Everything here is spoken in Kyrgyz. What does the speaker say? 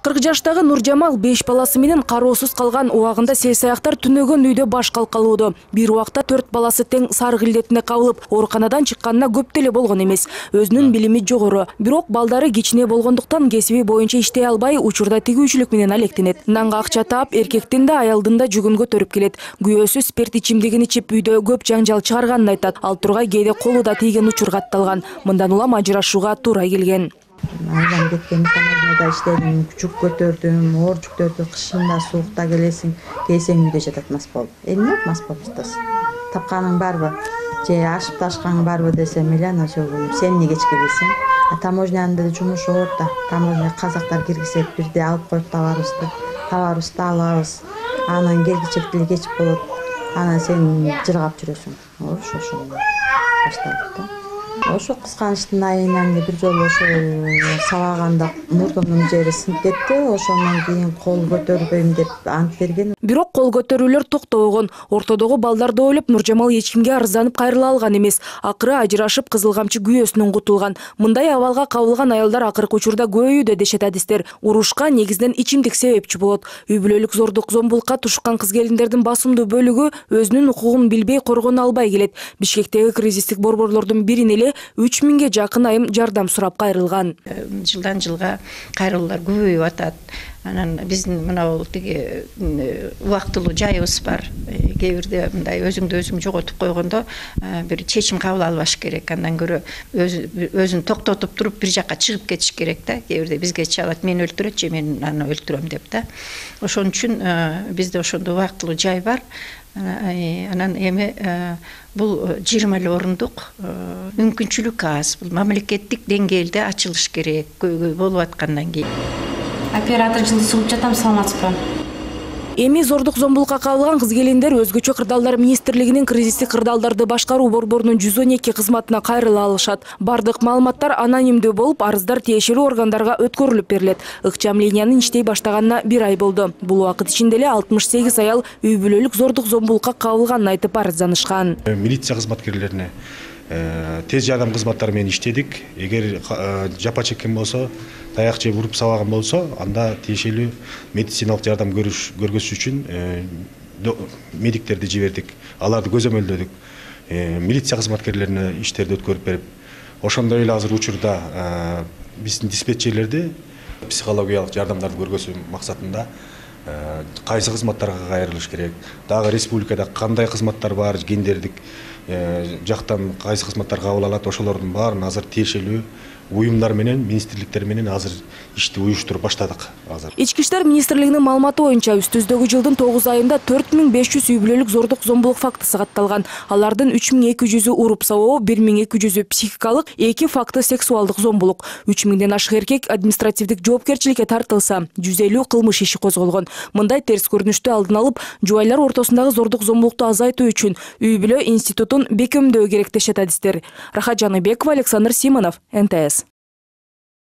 40 жаштагы Нуржамал 5 баласы менен кароосуз калган убагында сел-саяктар түнөгөн үйдө баш калкалоодо. Бир убакта 4 баласы тең сарык илдетине кабылып, ооруканадан чыкканына көп деле болгон эмес. Өзүнүн билими жогору, бирок балдары кичине болгондуктан кесиби боюнча иштей албай, учурда тигүүчүлүк менен алектенет. Нанга акча таап, эркектин да аялдын да жүгүн көтөрүп келет. Күйөөсү спирт ичимдигин ичип үйдө көп жаңжал чыгарганын айтат. Ал тургай кээде колу да тийген учур катталган. Мындан улам ажырашууга туура келген. Айлам кеткен таможняда иштедим, жүк көтөрдүм, оор жүктөрдү кышында суукта келсең үйдө жатат мас болуп. Эмне мас болуп жатасың? Тапканың барбы? Же ашып ташкаң барбы десем эле анан сөөгүнүп, сен эмне кечке келсең? Таможнянын да жумушу оор да. Таможня казактар киргизет, бирде алып коюп табарыбызды алабыз. Анан келгичек деле кеч болот. Анан сен жыргап жүрөсүң. Ошо башталды да. Ошо кызганычтын айынан бир жолу ошо сабаганда мурдунун жери сынып кетти. Ошондон кийин кол көтөрбөйм деп ант берген. Бирок кол көтөрүүлөр токтобогон. Ортодогу балдарды ойлоп Нуржамал эч кимге арызданып кайрыла алган эмес. Акыры ажырашып, кызыл камчы күйөөсүнөн кутулган. Мындай абалга кабылган аялдар акыркы учурда көбөйүүдө дешет адистер. Урушка негизинен ичимдик себепчи болот. Үй бүлөлүк зордук зомбулукка тушкан кыз-келиндердин басымдуу бөлүгү өзүнүн укугун билбей коргоно албай келет. Бишкектеги кризистик борборлордун бирин эле 3000 жакын айым жардам сурап кайрылган. Жылдан жылга кайрылуулар көбөйүп атат. Анан биздин мына бул тиги убактылуу жайыбыз бар. Кээ бирде мындай өзүңдү өзүң жоготуп койгондо бир чечим кабыл албаш керек. Андан көрө өзүн токтотуп туруп бир жакка чыгып кетиш керек да. Кээ бирде бизге чалат, мени өлтүрөт же мен аны өлтүрөм деп да. Ошон үчүн бизде ошондой убактылуу жай бар. Анан эми бул 20 орундук мүмкүнчүлүк аз. Бул мамлекеттик деңгээлде ачылыш керек. Көйгөй болуп аткандан кийин. Оператор жылды сугуп жатам, саламатсызбы? Эми зордук зомбулукка кабылган кыз-келиндер өзгөчө кырдаалдар министрлигинин кризистик кырдаалдарды башкаруу борборунун 112 кызматына кайрыла алышат. Бардык маалыматтар анонимдүү болуп, арыздар тиешелүү органдарга өткөрүлүп берилет. Ыкчам линиянын иштей баштаганына 1 ай болду. Бул убакыт ичинде эле 68 аял үй бүлөлүк зордук зомбулукка кабылганын айтып арызданышкан. Милиция кызматкерлерине тез жардам кызматтары менен иштедик. Эгер жапа чеккен болсо, таяк же уруп сабаган болсо, анда тиешелүү медициналык жардам көргөзүш үчүн медиктерди жибердик. Аларды көзөмөлдөдүк. Милиция кызматкерлерине иштерди өткөрүп берип, ошондой эле азыр учурда биздин диспетчерлерди психологиялык жардамдарды көргөзүү максатында кайсы кызматтарга кайрылыш керек, дагы республикада кандай кызматтар бар, гендердик жактан кайсы кызматтар кабыл алат, ошолордун баарын азыр тиешелүү уюмдар менен, министрликтер менен азыр ишти уюштуруп баштадык азыр. Ички иштер министрлигинин маалыматы боюнча үстүздөгү жылдын 9 айында 4500 үй бүлөлүк зордук зомбулук фактысы катталган. Алардын 3200-ü уруп сабоо, 1200-ü психикалык, 2 факты сексуалдык зомбулук. 3000ден ашык эркек административдик жоопкерчиликке тартылса, 150 кылмыш иши козголгон. Мындай терс көрүнүштү алдын алып, жубайлар ортосундагы зордук зомбулукту азайтуу үчүн үй бүлө институтун бекемдөө керек дешет адистер. Рахат Жаныбекова, Александр Симонов, НТС.